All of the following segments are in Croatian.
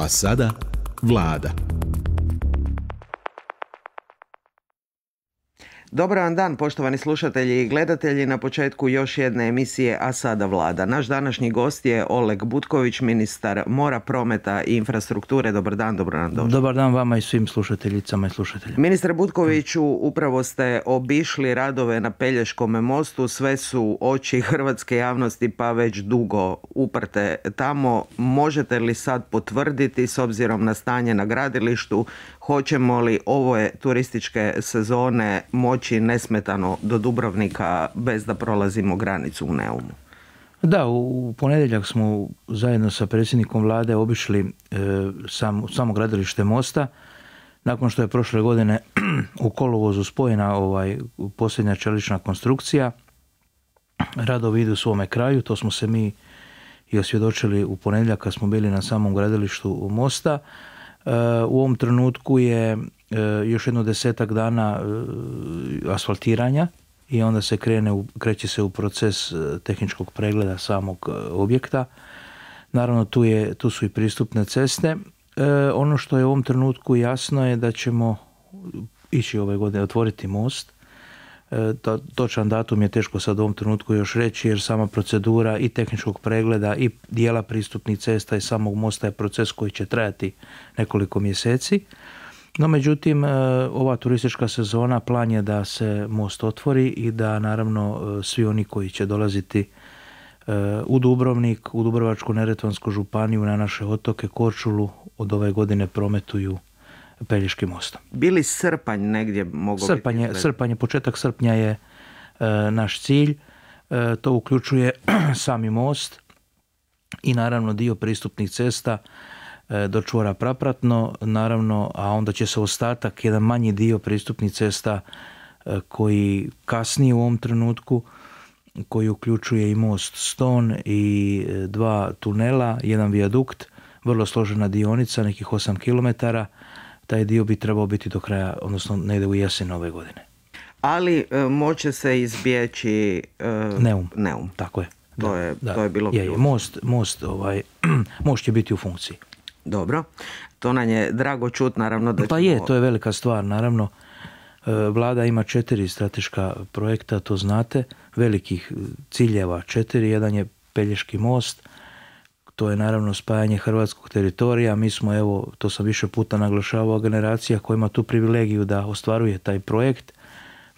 A sada Vlada. Dobar vam dan, poštovani slušatelji i gledatelji, na početku još jedne emisije A sada Vlada. Naš današnji gost je Oleg Butković, ministar mora, prometa i infrastrukture. Dobar dan, dobro nam došli. Dobar dan vama i svim slušateljicama i slušateljima. Ministre Butkoviću, upravo ste obišli radove na Pelješkom mostu, sve su oči hrvatske javnosti pa već dugo uprte tamo. Možete li sad potvrditi, s obzirom na stanje na gradilištu, hoćemo li ove turističke sezone moći nesmetano do Dubrovnika bez da prolazimo granicu u Neumu? Da, u ponedjeljak smo zajedno sa predsjednikom vlade obišli samo gradilište mosta. Nakon što je prošle godine u kolovozu spojena posljednja čelična konstrukcija, radovi idu svome kraju. To smo se mi i osvjedočili u ponedjeljak kad smo bili na samom gradilištu mosta. U ovom trenutku je još jedno 10-ak dana asfaltiranja i onda se kreće se u proces tehničkog pregleda samog objekta. Naravno tu su i pristupne ceste. Ono što je u ovom trenutku jasno je da ćemo ići ove godine otvoriti most. Točan datum je teško sad u ovom trenutku još reći, jer sama procedura i tehničkog pregleda i dijela pristupnih cesta i samog mosta je proces koji će trajati nekoliko mjeseci. No međutim, ova turistička sezona plan je da se most otvori i da naravno svi oni koji će dolaziti u Dubrovnik, u Dubrovačko-neretvansku županiju, na naše otoke, Korčulu, od ove godine prometuju Pelješkim mostom. Bili srpanj negdje mogao biti? Početak srpnja je naš cilj. To uključuje sami most i naravno dio pristupnih cesta do čvora Prapratno, naravno, a onda će se ostatak, jedan manji dio pristupnih cesta koji kasnije u ovom trenutku, koji uključuje i most Ston i 2 tunela, jedan vijadukt, vrlo složena dionica, nekih 8 km. Taj dio bi trebao biti do kraja, odnosno negdje u jesen ove godine. Ali moće se izbjeći Neum. Tako je. To je bilo ključno. Most će biti u funkciji. Dobro, to nam je drago čut, naravno da to je velika stvar, naravno. Vlada ima 4 strateška projekta, to znate, velikih ciljeva 4, jedan je Pelješki most, to je naravno spajanje hrvatskog teritorija. Mi smo, evo, to sam više puta naglašavao, generacija koja ima tu privilegiju da ostvaruje taj projekt.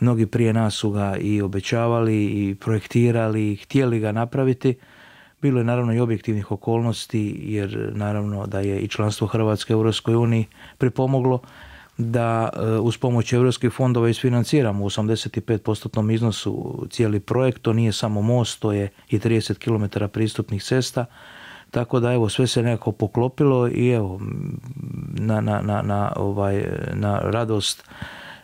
Mnogi prije nas su ga i obećavali i projektirali i htjeli ga napraviti. Bilo je naravno i objektivnih okolnosti, jer naravno da je i članstvo Hrvatske u Europskoj uniji pripomoglo da uz pomoć europskih fondova isfinanciramo u 85% iznosu cijeli projekt. To nije samo most, to je i 30 km pristupnih cesta. Tako da evo, sve se nekako poklopilo i evo, na radost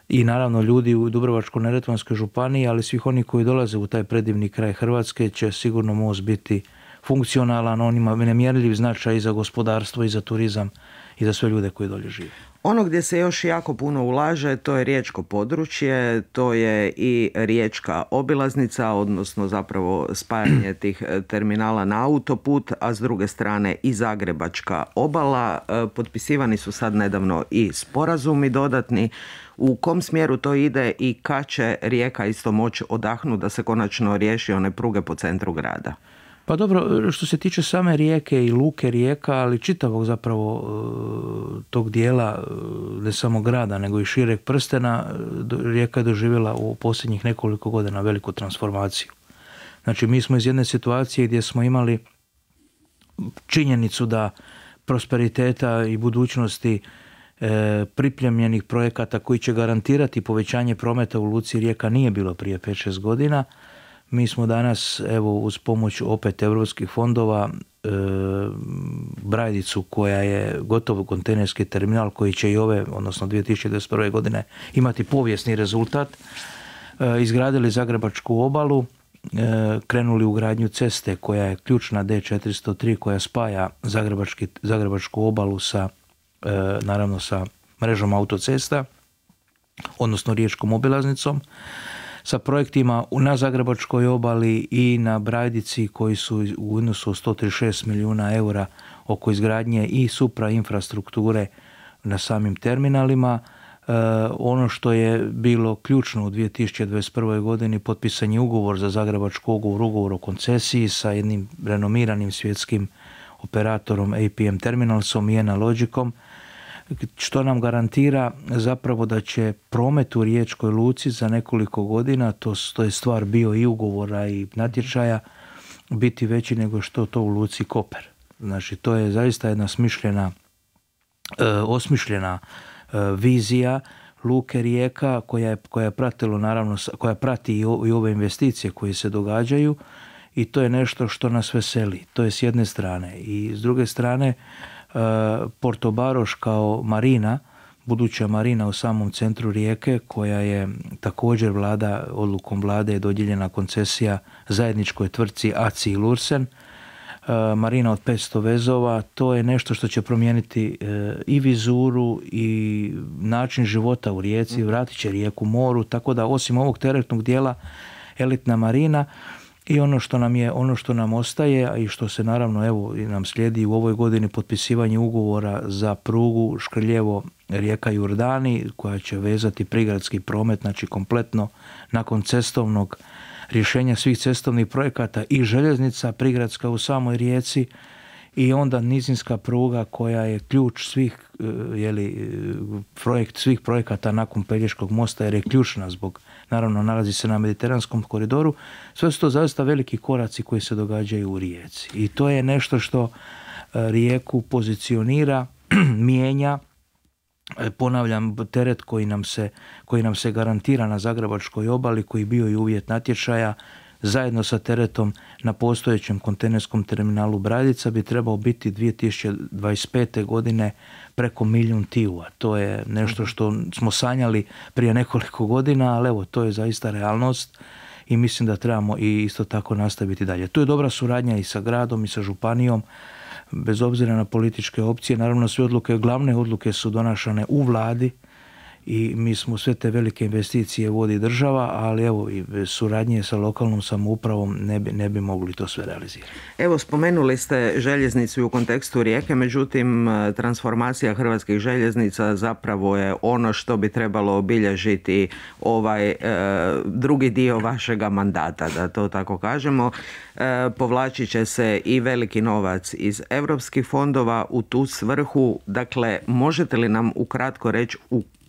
i naravno ljudi u Dubrovačko-neretvanskoj županiji, ali svih oni koji dolaze u taj predivni kraj Hrvatske, će sigurno most biti funkcionalan. On ima nemjerljiv značaj i za gospodarstvo i za turizam i za sve ljude koji dolje žive. Ono gdje se još jako puno ulaže, to je riječko područje, to je i riječka obilaznica, odnosno zapravo spajanje tih terminala na autoput, a s druge strane i Zagrebačka obala. Potpisivani su sad nedavno i sporazumi dodatni. U kom smjeru to ide i kad će Rijeka isto moći odahnuti da se konačno riješi one pruge po centru grada? Pa dobro, što se tiče same Rijeke i luke Rijeka, ali čitavog zapravo tog dijela, ne samo grada, nego i šireg prstena, Rijeka je doživjela u posljednjih nekoliko godina veliku transformaciju. Znači, mi smo iz jedne situacije gdje smo imali činjenicu da prosperiteta i budućnosti pripremljenih projekata koji će garantirati povećanje prometa u luci Rijeka nije bilo prije 5-6 godina. Mi smo danas, evo, uz pomoć opet europskih fondova, Brajdicu, koja je gotovo kontejnerski terminal koji će i odnosno 2021. godine imati povijesni rezultat, izgradili Zagrebačku obalu, krenuli u gradnju ceste koja je ključna D403 koja spaja Zagrebačku obalu naravno sa mrežom autocesta, odnosno riječkom obilaznicom, sa projektima na Zagrebačkoj obali i na Brajdici koji su u iznosu od 136 milijuna eura oko izgradnje i suprainfrastrukture na samim terminalima. Ono što je bilo ključno u 2021. godini, potpisan je ugovor za Zagrebačku ugovor o koncesiji sa jednim renomiranim svjetskim operatorom APM Terminalsom i Analogicom, što nam garantira zapravo da će promet u Riječkoj luci za nekoliko godina, to je stvar bio i ugovora i natječaja, biti veći nego što to u luci Koper. Znači, to je zaista jedna osmišljena vizija luke Rijeka koja je pratilo, naravno, koja prati i ove investicije koje se događaju, i to je nešto što nas veseli. To je s jedne strane. I s druge strane, Porto Baroš kao marina, buduća marina u samom centru Rijeke, koja je također odlukom vlade je dodijeljena koncesija zajedničkoj tvrtci ACI Lursen, marina od 500 vezova, to je nešto što će promijeniti i vizuru i način života u Rijeci, vratit će Rijeku moru, tako da osim ovog teretnog dijela elitna marina. I ono što nam ostaje, a i što se naravno evo nam slijedi u ovoj godini, potpisivanje ugovora za prugu Škrljevo Rijeka Jurdani, koja će vezati prigradski promet, znači kompletno nakon cestovnog rješenja svih cestovnih projekata i željeznica prigradska u samoj Rijeci, i onda nizinska pruga koja je ključ svih svih projekata nakon Pelješkog mosta, jer je ključna zbog, naravno, nalazi se na Mediteranskom koridoru. Sve su to zaista veliki koraci koji se događaju u Rijeci. I to je nešto što Rijeku pozicionira, mijenja. Ponavljam, teret koji nam se garantira na Zagrebačkoj obali, koji bio i uvjet natječaja, zajedno sa teretom na postojećem kontejnerskom terminalu Brajdica, bi trebao biti 2025. godine preko 1 milijun TIU-a. To je nešto što smo sanjali prije nekoliko godina, ali evo, to je zaista realnost i mislim da trebamo i isto tako nastaviti dalje. Tu je dobra suradnja i sa gradom i sa županijom, bez obzira na političke opcije. Naravno, sve glavne odluke su donašane u vladi i mi smo sve te velike investicije vodi država, ali evo, i bez suradnje sa lokalnom samoupravom ne bi mogli to sve realizirati. Evo, spomenuli ste željeznicu u kontekstu Rijeke, međutim transformacija hrvatskih željeznica zapravo je ono što bi trebalo obilježiti ovaj drugi dio vašega mandata, da to tako kažemo. Povlačit će se i veliki novac iz europskih fondova u tu svrhu. Dakle, možete li nam ukratko reći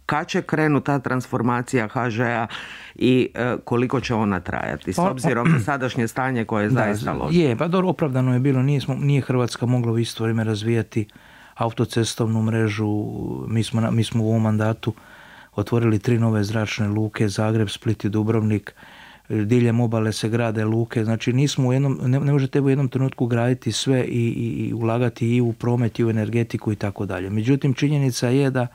kad će krenuti ta transformacija HŽ-a i koliko će ona trajati, s obzirom na sadašnje stanje koje je zaista loše? Pa dobro, opravdano je bilo, nije Hrvatska mogla u isto vrijeme razvijati autocestovnu mrežu. Mi smo u ovom mandatu otvorili 3 nove zračne luke, Zagreb, Split i Dubrovnik. Diljem obale se grade luke, znači ne možete u jednom trenutku graditi sve i ulagati i u promet i u energetiku i tako dalje. Međutim, činjenica je da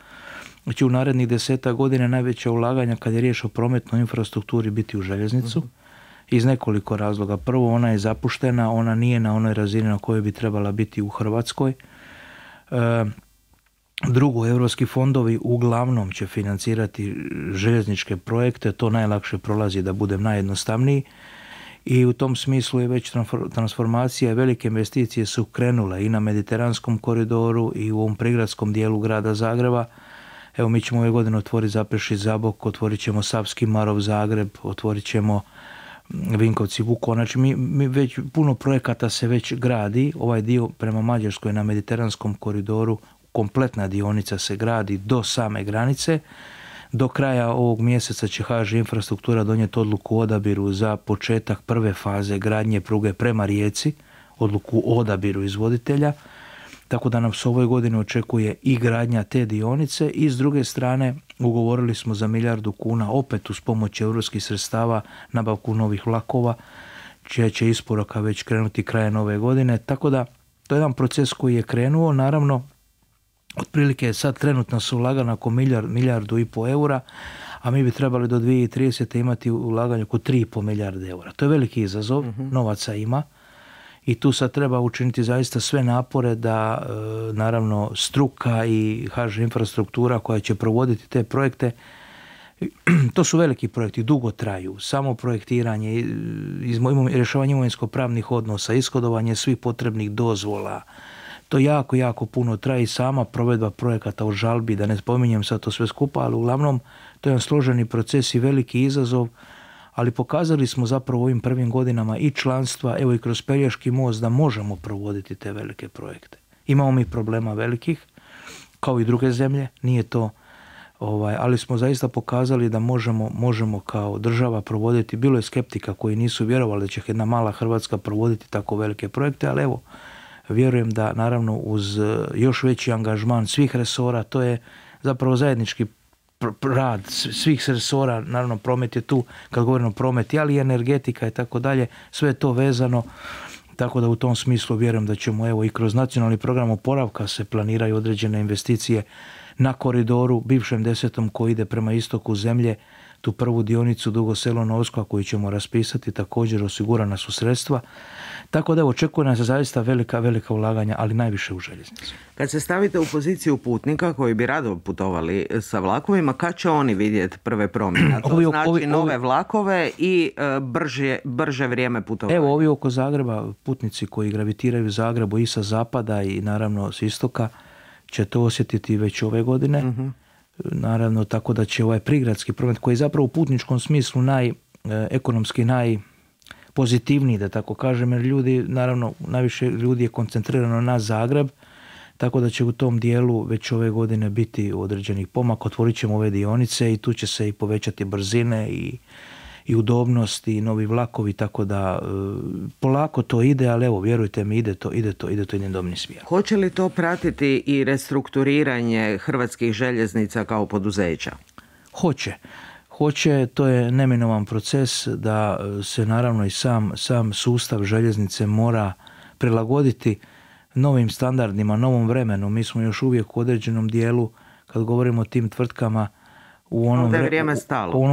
će u narednih 10 godina najveća ulaganja kad je riječ o prometnoj infrastrukturi biti u željeznicu, iz nekoliko razloga. Prvo, ona je zapuštena, ona nije na onoj razini na kojoj bi trebala biti u Hrvatskoj. Drugo, europski fondovi uglavnom će financirati željezničke projekte, to najlakše prolazi, da budem najjednostavniji, i u tom smislu je već transformacija, velike investicije su krenule i na Mediteranskom koridoru i u ovom prigradskom dijelu grada Zagreba. Evo, mi ćemo ove godine otvoriti Zaprešić-Zabok, otvorit ćemo Savski Marof-Zagreb, otvorit ćemo Vinkovci-Vukovar. Znači, mi već puno projekata se već gradi. Ovaj dio prema Mađarskoj na Mediteranskom koridoru, kompletna dionica se gradi do same granice. Do kraja ovog mjeseca će HŽ Infrastruktura donijeti odluku o odabiru za početak prve faze gradnje pruge prema Rijeci, odluku o odabiru izvoditelja. Tako da nam se ovoj godini očekuje i gradnja te dionice, i s druge strane ugovorili smo za 1 milijardu kuna opet uz pomoć europskih sredstava nabavku novih vlakova, čija će isporuka već krenuti krajem ove godine. Tako da to je jedan proces koji je krenuo. Naravno, otprilike sad trenutno su ulagana oko 1,5 milijardu eura, a mi bi trebali do 2030. imati ulaganje oko 3,5 milijarde eura. To je veliki izazov, novaca ima. I tu sad treba učiniti zaista sve napore da, naravno, struka i HŽ Infrastruktura koja će provoditi te projekte, to su veliki projekti, dugo traju. Samo projektiranje, rješavanje imovinsko-pravnih odnosa, ishodovanje svih potrebnih dozvola, To jako, jako puno traje i sama provedba projekata u žalbi, da ne spominjem sad to sve skupa, ali uglavnom to je jedan složeni proces i veliki izazov, ali pokazali smo zapravo u ovim prvim godinama i članstva, evo i kroz Pelješki most, da možemo provoditi te velike projekte. Imamo mi problema velikih, kao i druge zemlje, nije to, ali smo zaista pokazali da možemo kao država provoditi. Bilo je skeptika koji nisu vjerovali da će jedna mala Hrvatska provoditi tako velike projekte, ali evo, vjerujem da naravno uz još veći angažman svih resora, to je zapravo zajednički rad svih resora, naravno promet je tu, kad govorimo o prometi, ali i energetika i tako dalje, sve je to vezano, tako da u tom smislu vjerujem da ćemo evo i kroz nacionalni program oporavka se planiraju određene investicije na koridoru, bivšem 10. koji ide prema istoku zemlje, tu prvu dionicu Dugo Selo-Novska koju ćemo raspisati, također osigurana su sredstva. Tako da očekuje nas zaista velika ulaganja, ali najviše u željeznicu. Kad se stavite u poziciju putnika koji bi rado putovali sa vlakovima, kad će oni vidjeti prve promjene? To znači nove vlakove i brže vrijeme putovanja. Evo, ovi oko Zagreba, putnici koji gravitiraju u Zagrebu i sa zapada i naravno s istoka, će to osjetiti već ove godine. Naravno, tako da će ovaj prigradski promet, koji je zapravo u putničkom smislu ekonomski najpozitivniji, da tako kažem, jer ljudi, naravno, najviše ljudi je koncentrirano na Zagreb, tako da će u tom dijelu već ove godine biti određenih pomaka. Otvorit ćemo ove dionice i tu će se i povećati brzine i udobnost i novi vlakovi, tako da polako to ide, ali evo, vjerujte mi, ide to jednim dobrim smjerom. Hoće li to pratiti i restrukturiranje Hrvatskih željeznica kao poduzeća? Hoće, to je neminovan proces da se naravno i sam sustav željeznice mora prilagoditi novim standardima, novom vremenu. Mi smo još uvijek u određenom dijelu, kad govorimo o tim tvrtkama, u onom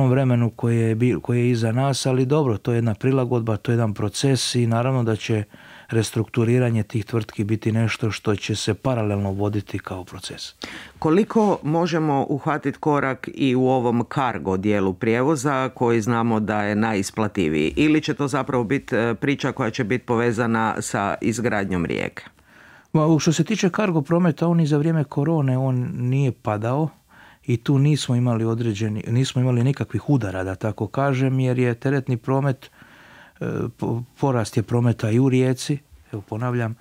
vremenu koje je iza nas, ali dobro, to je jedna prilagodba, to je jedan proces i naravno da će restrukturiranje tih tvrtki biti nešto što će se paralelno voditi kao proces. Koliko možemo uhvatiti korak i u ovom cargo dijelu prijevoza koji znamo da je najisplativiji, ili će to zapravo biti priča koja će biti povezana sa izgradnjom Rijeke? Što se tiče cargo prometa, on i za vrijeme korone on nije padao. I tu nismo imali nikakvih udara, da tako kažem, jer je teretni promet, porast je prometa i u Rijeci, evo ponavljam,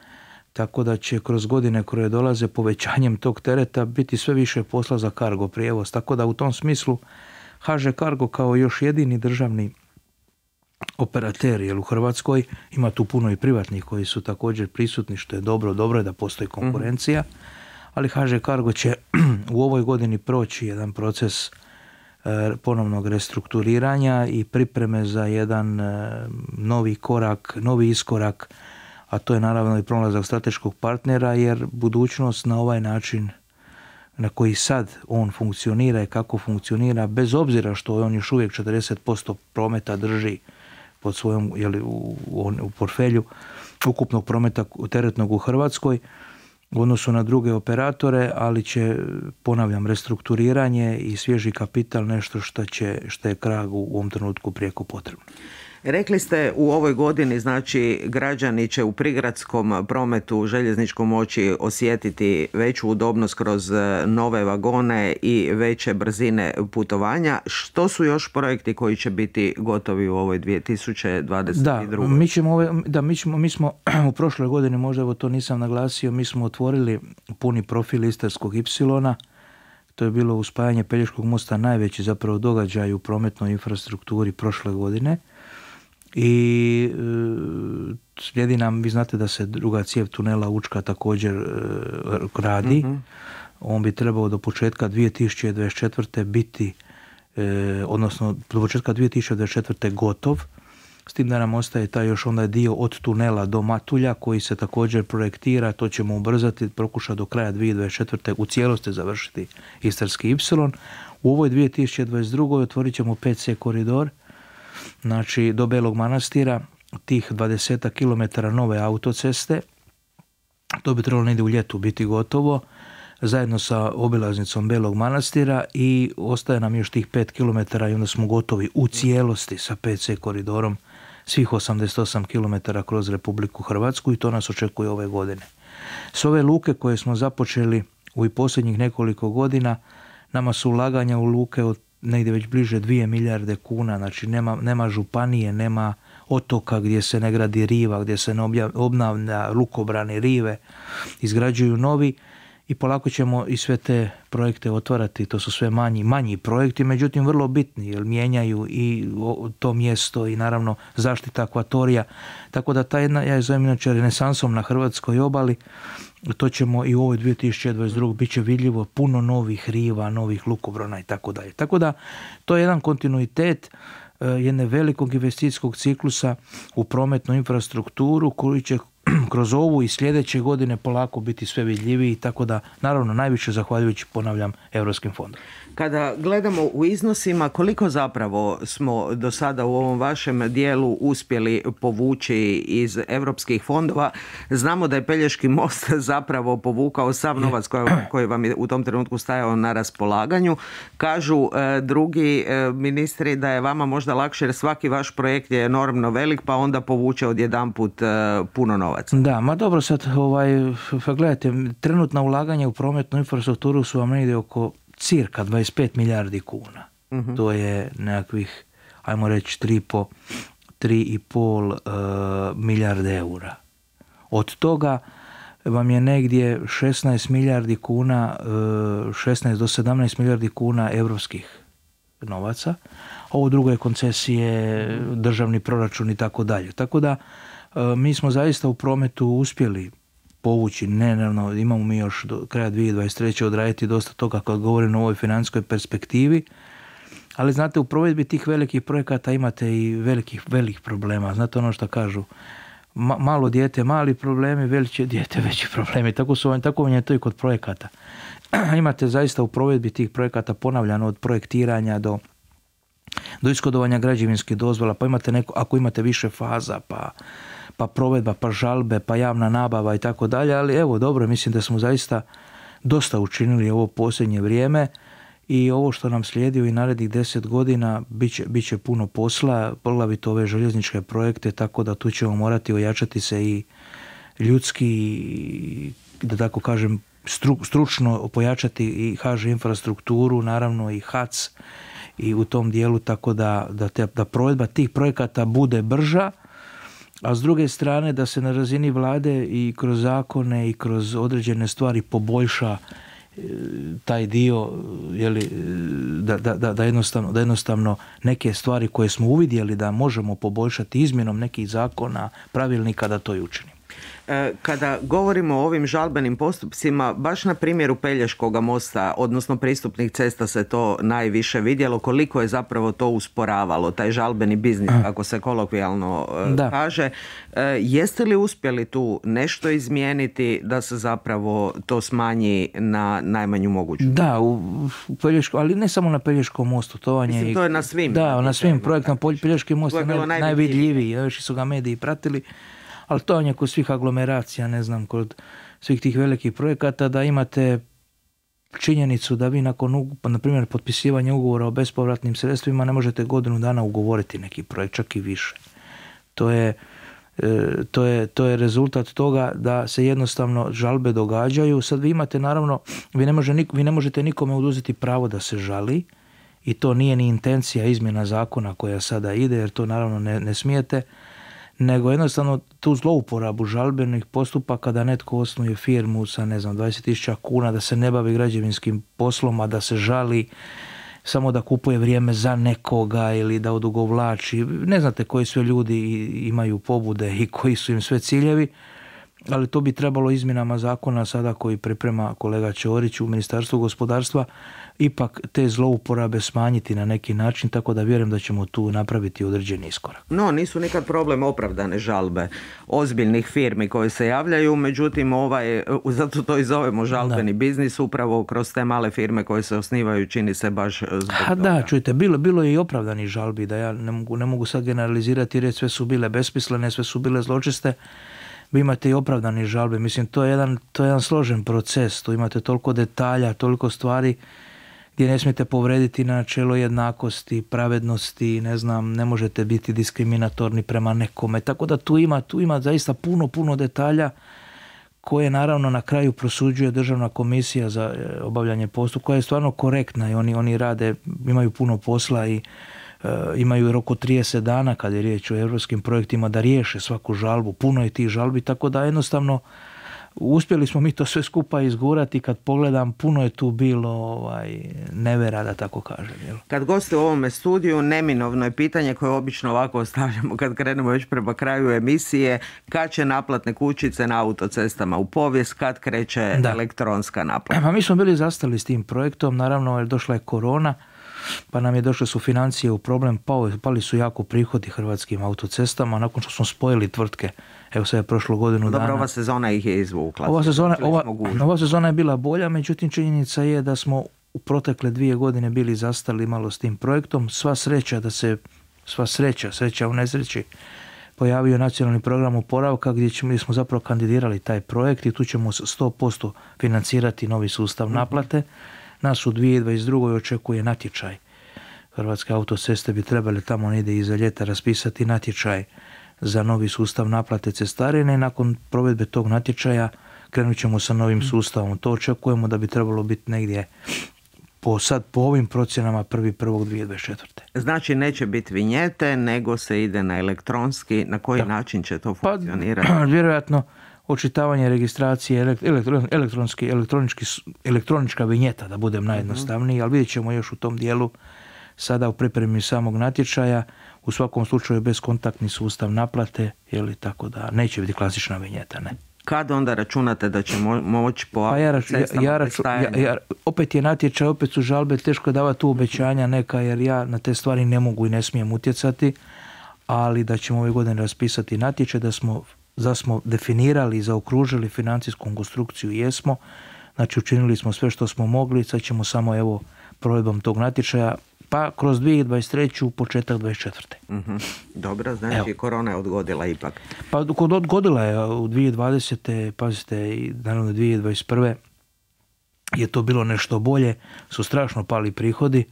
tako da će kroz godine koje dolaze povećanjem tog tereta biti sve više posla za cargo prijevoz. Tako da u tom smislu HŽ Cargo kao još jedini državni operater, jer u Hrvatskoj ima tu puno i privatnih koji su također prisutni, što je dobro je da postoji konkurencija. Ali HŽ Cargo će u ovoj godini proći jedan proces ponovnog restrukturiranja i pripreme za jedan novi iskorak, a to je naravno i pronalazak strateškog partnera, jer budućnost na ovaj način na koji sad on funkcionira i kako funkcionira, bez obzira što on još uvijek 40% prometa drži pod svojom, u portfelju ukupnog prometa teretnog u Hrvatskoj, u odnosu na druge operatore, ali će, ponavljam, restrukturiranje i svježi kapital nešto što je krag u ovom trenutku prijeko potrebno. Rekli ste u ovoj godini, znači građani će u prigradskom prometu željezničkom moći osjetiti veću udobnost kroz nove vagone i veće brzine putovanja. Što su još projekti koji će biti gotovi u ovoj 2022? Mi smo u prošloj godini, možda evo to nisam naglasio, mi smo otvorili puni profil Istarskog Ipsilona. To je bilo uspajanje Pelješkog mosta, najveći zapravo događaj u prometnoj infrastrukturi prošle godine. I slijedi nam, vi znate da se druga cijev tunela Učka također radi. On bi trebao do početka 2024. biti, odnosno do početka 2024. gotov. S tim da nam ostaje taj još onda dio od tunela do Matulja koji se također projektira, to ćemo ubrzati, pokušati do kraja 2024. u cijelosti završiti Istarski Ipsilon. U ovoj 2022. otvorit ćemo 5C koridor, znači do Belog Manastira, tih 20 km nove autoceste. To bi trebalo negdje u ljetu biti gotovo, zajedno sa obilaznicom Belog Manastira, i ostaje nam još tih 5 km i onda smo gotovi u cijelosti sa 5C koridorom svih 88 km kroz Republiku Hrvatsku, i to nas očekuje ove godine. S ove luke koje smo započeli u posljednjih nekoliko godina, nama su ulaganja u luke od negdje već bliže 2 milijarde kuna, znači nema županije, nema otoka gdje se ne gradi riva, gdje se ne obnavlja lukobrani, rive, izgrađuju novi i polako ćemo i sve te projekte otvarati. To su sve manji projekti, međutim vrlo bitni jer mijenjaju i to mjesto i naravno zaštita akvatorija. Tako da ta jedna, ja je zovem inače renesansom na hrvatskoj obali, to ćemo i u ovoj 2022. bit će vidljivo puno novih riva, novih lukobrana i tako dalje. Tako da to je jedan kontinuitet jedne velikog investicijskog ciklusa u prometnu infrastrukturu koji će kroz ovu i sljedeće godine polako biti sve vidljiviji, tako da naravno najviše zahvaljujući, ponavljam, europskim fondom. Kada gledamo u iznosima, koliko zapravo smo do sada u ovom vašem dijelu uspjeli povući iz europskih fondova? Znamo da je Pelješki most zapravo povukao sav novac koji vam je u tom trenutku stajao na raspolaganju. Kažu drugi ministri da je vama možda lakše jer svaki vaš projekt je enormno velik pa onda povuče odjedanput puno novaca. Da, ma dobro sad, gledajte, trenutna ulaganja u prometnu infrastrukturu su vam negdje oko cirka 25 milijardi kuna. To je nekakvih, ajmo reći, 3,5 milijarde eura. Od toga vam je negdje 16 milijardi kuna, 16 do 17 milijardi kuna europskih novaca. Ovo drugo je koncesije, državni proračun i tako dalje. Tako da mi smo zaista u prometu uspjeli povući, imamo mi još do kraja 2023. odraditi dosta toga kad govorim o ovoj financijskoj perspektivi, ali znate, u provedbi tih velikih projekata imate i velikih problema. Znate ono što kažu, malo dijete mali problemi, veće dijete veći problemi. Tako vam je to i kod projekata. Imate zaista u provedbi tih projekata, ponavljano, od projektiranja do ishodovanja građevinskih dozvola, pa imate ako imate više faza, pa provedba, pa žalbe, pa javna nabava i tako dalje, ali evo dobro, mislim da smo zaista dosta učinili ovo posljednje vrijeme i ovo što nam slijedi u narednih 10 godina bit će puno posla, poglavito ove željezničke projekte, tako da tu ćemo morati ojačati se i ljudski, da tako kažem, stručno pojačati i HŽ infrastrukturu, naravno i HAC i u tom dijelu, tako da provedba tih projekata bude brža, a s druge strane da se na razini vlade i kroz zakone i kroz određene stvari poboljša taj dio, da jednostavno neke stvari koje smo uvidjeli da možemo poboljšati izmjenom nekih zakona, pravilnika, da to i učinimo. Kada govorimo o ovim žalbenim postupcima, baš na primjeru Pelješkoga mosta, odnosno pristupnih cesta, se to najviše vidjelo, koliko je zapravo to usporavalo, taj žalbeni biznis, kako se kolokvijalno kaže. Jeste li uspjeli tu nešto izmijeniti da se zapravo to smanji na najmanju moguću? Da, u Pelješkom, ali ne samo na Pelješkom mostu. To je na svim. Da, na svim projektima. Pelješki most je najvidljiviji, još su ga mediji pratili. Ali to je kod svih aglomeracija, kod svih tih velikih projekata, da imate činjenicu da vi nakon, na primjer, potpisivanja ugovora o bespovratnim sredstvima ne možete godinu dana ugovoriti neki projekt, čak i više. To je rezultat toga da se jednostavno žalbe događaju. Sad vi imate, naravno, vi ne možete nikome oduzeti pravo da se žali i to nije ni intencija izmjena zakona koja sada ide, jer to naravno ne smijete, nego jednostavno tu zlouporabu žalbenih postupaka da netko osnuje firmu sa 20.000 kuna, da se ne bavi građevinskim poslom, a da se žali samo da kupuje vrijeme za nekoga ili da odugovlači. Ne znate koji sve ljudi imaju pobude i koji su im sve ciljevi, ali to bi trebalo izmjenama zakona sada koji priprema kolega Ćorić u Ministarstvu gospodarstva ipak te zlouporabe smanjiti na neki način, tako da vjerujem da ćemo tu napraviti određeni iskorak. No, nisu nikad problem opravdane žalbe ozbiljnih firmi koje se javljaju, međutim zato to i zovemo žalbeni biznis, upravo kroz te male firme koje se osnivaju, čini se baš zbog toga. Da, čujte, bilo je i opravdanih žalbi, da ja ne mogu sad generalizirati jer sve su bile besmislene, sve su bile zločeste. Vi imate i opravdane žalbe, mislim to je jedan složen proces, tu imate toliko detalja, toliko stvari gdje ne smijete povrediti načelo jednakosti, pravednosti, ne možete biti diskriminatorni prema nekome, tako da tu ima zaista puno detalja koje naravno na kraju prosuđuje Državna komisija za obavljanje postupka, koja je stvarno korektna i oni rade, imaju puno posla i imaju rok od 30 dana kad je riječ o europskim projektima da riješe svaku žalbu. Puno je tih žalbi, tako da jednostavno uspjeli smo mi to sve skupa izgurati. Kad pogledam, puno je tu bilo nevera, da tako kažem. Jel? Kad goste u ovome studiju, neminovno je pitanje koje obično ovako ostavljamo kad krenemo već prema kraju emisije, kad će naplatne kućice na autocestama u povijest, kad kreće elektronska naplata? Pa mi smo bili zastali s tim projektom, naravno jer došla je korona, pa nam je došle su financije u problem, pali su jako prihodi Hrvatskim autocestama, nakon što smo spojili tvrtke. Evo sad je prošlo godinu dana. Dobro, ova sezona ih je izvukla. Ova sezona je bila bolja, međutim činjenica je da smo u protekle 2 godine bili zastali malo s tim projektom. Sva sreća u nesreći, pojavio nacionalni program oporavka gdje smo zapravo kandidirali taj projekt i tu ćemo 100% financirati novi sustav naplate. Nas u 2022. očekuje natječaj. Hrvatske autoceste bi trebali tamo negdje iza ljeta raspisati natječaj za novi sustav naplate cestarine i nakon provedbe tog natječaja krenut ćemo sa novim sustavom. To očekujemo da bi trebalo biti negdje po ovim procjenama 1.1.2024. Znači neće biti vinjete, nego se ide na elektronski. Na koji način će to funkcionirati? Vjerojatno očitavanje registracije, elektronička vinjeta, da budem najjednostavniji, ali vidjet ćemo još u tom dijelu sada u pripremi samog natječaja. U svakom slučaju beskontaktni sustav naplate, tako da neće biti klasična vinjeta, ne. Kad onda računate da će moći po cestama opet je natječaj, opet su žalbe, teško je davati tu obećanja neka, jer ja na te stvari ne mogu i ne smijem utjecati, ali da ćemo ove godine raspisati natječaj, da smo definirali i zaokružili financijsku konstrukciju, jesmo. Znači učinili smo sve što smo mogli, sad ćemo samo provedbom tog natječaja pa kroz 2023. početak 2024. Dobro, znači korona je odgodila ipak. Pa odgodila je u 2020. Pazite, i naravno 2021. je to bilo nešto bolje, su strašno pali prihodi.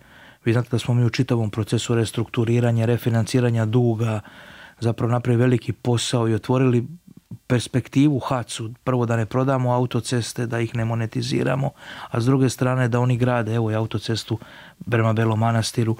Vi znate da smo mi u čitavom procesu restrukturiranja, refinanciranja duga zapravo napravili veliki posao i otvorili perspektivu HAC-u, prvo da ne prodamo autoceste, da ih ne monetiziramo, a s druge strane da oni grade, evo i autocestu prema Belom Manastiru.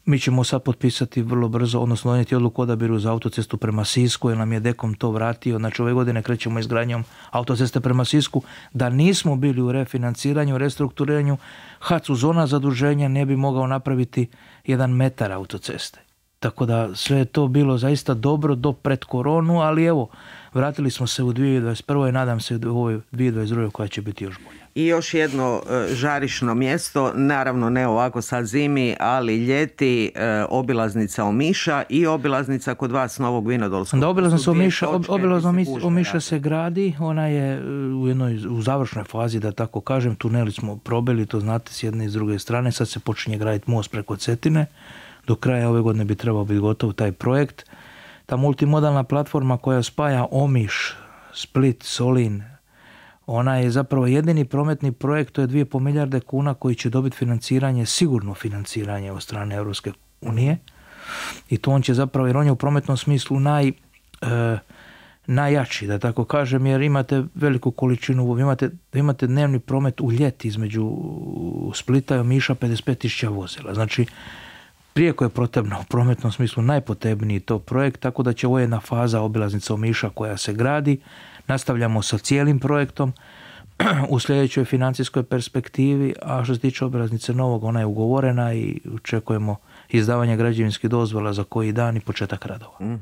Mi ćemo sad potpisati vrlo brzo, odnosno donijeti odluku o odabiru za autocestu prema Sisku, jer nam je Dekom to vratio. Znači ove godine krećemo izgradnjom autoceste prema Sisku. Da nismo bili u refinanciranju, restrukturiranju, HAC-u zona zaduženja ne bi mogao napraviti 1 metar autoceste. Tako da sve je to bilo zaista dobro do pred koronu, ali evo, vratili smo se u 2021. i nadam se u ovoj 2022. koja će biti još bolja. I još jedno žarišno mjesto, naravno ne ovako sad zimi, ali ljeti, obilaznica Omiša i obilaznica kod vas Novog Vinodolskog. Da, obilaznica Omiša se gradi, ona je u završnoj fazi, da tako kažem, tuneli smo probili, to znate, s jedne i s druge strane, sad se počinje graditi most preko Cetine. Do kraja ove godine bi trebao biti gotov taj projekt. Ta multimodalna platforma koja spaja Omiš, Split, Solin, ona je zapravo jedini prometni projekt, to je 2,5 milijarde kuna koji će dobiti financiranje, sigurno financiranje od strane Europske unije. I to on će zapravo, jer on je u prometnom smislu najjači, da tako kažem, jer imate veliku količinu, imate dnevni promet u ljeti između Splita i Omiša 55.000 vozila. Znači, prijeko je potrebno u prometnom smislu najpotrebniji to projekt, tako da će ovo jedna faza obilaznica Omiša koja se gradi. Nastavljamo sa cijelim projektom u sljedećoj financijskoj perspektivi, a što se tiče obilaznice Novog, ona je ugovorena i očekujemo izdavanje građevinskih dozvola za koji dan i početak radova.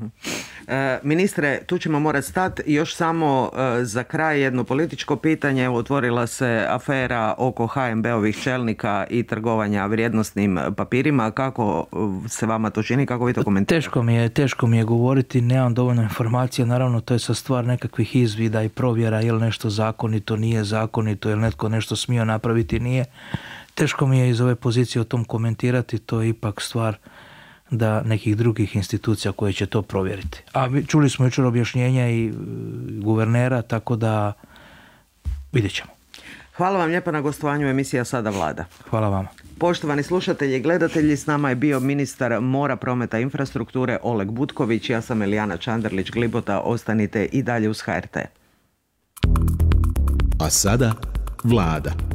Ministre, tu ćemo morati stati. Još samo za kraj jedno političko pitanje. Otvorila se afera oko HNB-ovih čelnika i trgovanja vrijednosnim papirima. Kako se vama to čini? Kako vi to komentirate? Teško mi je govoriti, nemam dovoljno informacija. Naravno, to je sa stvar nekakvih izvida i provjera, je li nešto zakonito, nije zakonito, je li netko nešto smio napraviti, nije. Teško mi je iz ove pozicije o tom komentirati, to je ipak stvar da nekih drugih institucija koje će to provjeriti. A čuli smo jučer objašnjenja i guvernera, tako da vidjet ćemo. Hvala vam lijepa na gostovanju emisija Sada Vlada. Hvala vama. Poštovani slušatelji i gledatelji, s nama je bio ministar mora, prometa i infrastrukture Oleg Butković. Ja sam Elijana Čanderlić-Glibota. Ostanite i dalje uz HRT. A sada Vlada.